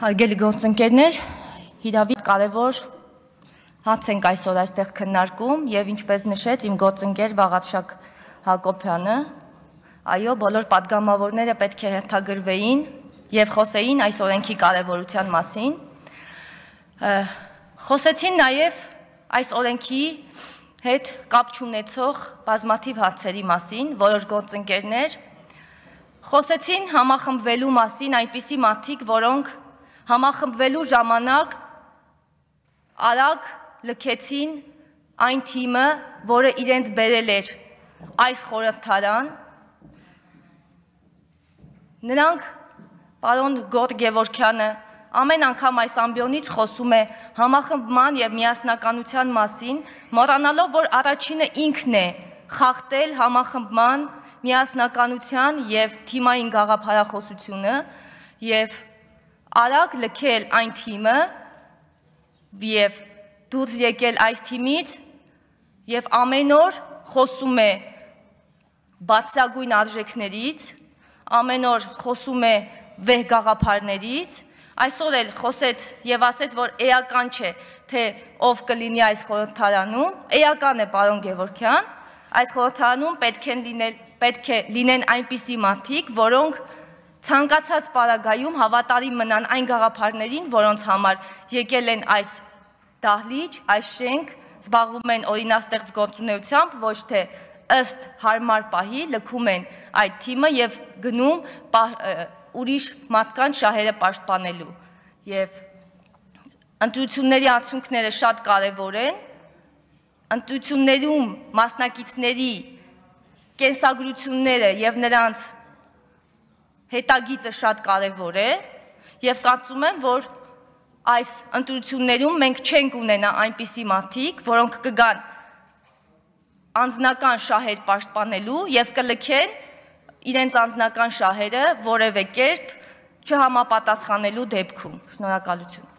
Հարգելի գործընկերներ, հիրավի կարևոր հարց ենք այսօր այստեղ քննարկում եւ ինչպես նշեց իմ գործընկեր Վաղարշակ Հակոբյանը, այո, բոլոր պատգամավորները պետք է հերթագրվեին եւ խոսեին այս օրենքի կարևորության մասին։ Խոսեցին նաեւ այս օրենքի հետ կապ չունեցող բազմաթիվ հարցերի մասին, որոշ գործընկերներ խոսեցին համախմբվելու մասին այնպիսի մարդիկ, որոնք համախմբվելու ժամանակ արագ լքեցին այն թիմը, որը իրենց բերել էր այս խորհրդարան։ Նրանք, պարոն Գորգ Գևորգյանը, ամեն անգամ այս ամբիոնից խոսում է համախմբման եւ միասնականության մասին, մոռանալով, որ առաջինը ինքն է խախտել համախմբման, միասնականության եւ թիմային գաղափարախոսությունը եւ արագ լքել այն թիմը եւ դուրս եկել այս թիմից եւ ամեն օր խոսում է բացրագույն արժեքներից, ամեն օր խոսում է վեհ գաղափարներից, այսօր էլ խոսեց եւ ասեց, որ էական չէ, թե ով կլինի այս խորհրդարանում, էական է պարոն Գևորգյան, այս խորհրդարանում պետք է լինեն այնպիսի մարդիկ, որոնք ցանկացած պարագայում հավատարիմ մնան այն գաղափարներին, որոնց համար եկել են այս դահլիճ, այս շենք, զբաղվում են օրինաստեղծ գործունեությամբ, ոչ թե ըստ հարմար պահի լքում են այդ թիմը եւ գնում ուրիշ մարդկանց շահերը պաշտպանելու։ Եվ ընտրությունների արդյունքները շատ կարեւոր են, ընտրություններում մասնակիցների կենսագրությունները եւ նրանց հետագիծը շատ կարևոր է եւ կարծում եմ, որ այս ընտրություններում մենք չենք ունենա այնպիսի մարդիկ, որոնք կգան անձնական շահեր պաշտպանելու եւ կլքեն իրենց անձնական շահերը որևէ կերպ չհամապատասխանելու դեպքում։ Շնորհակալություն։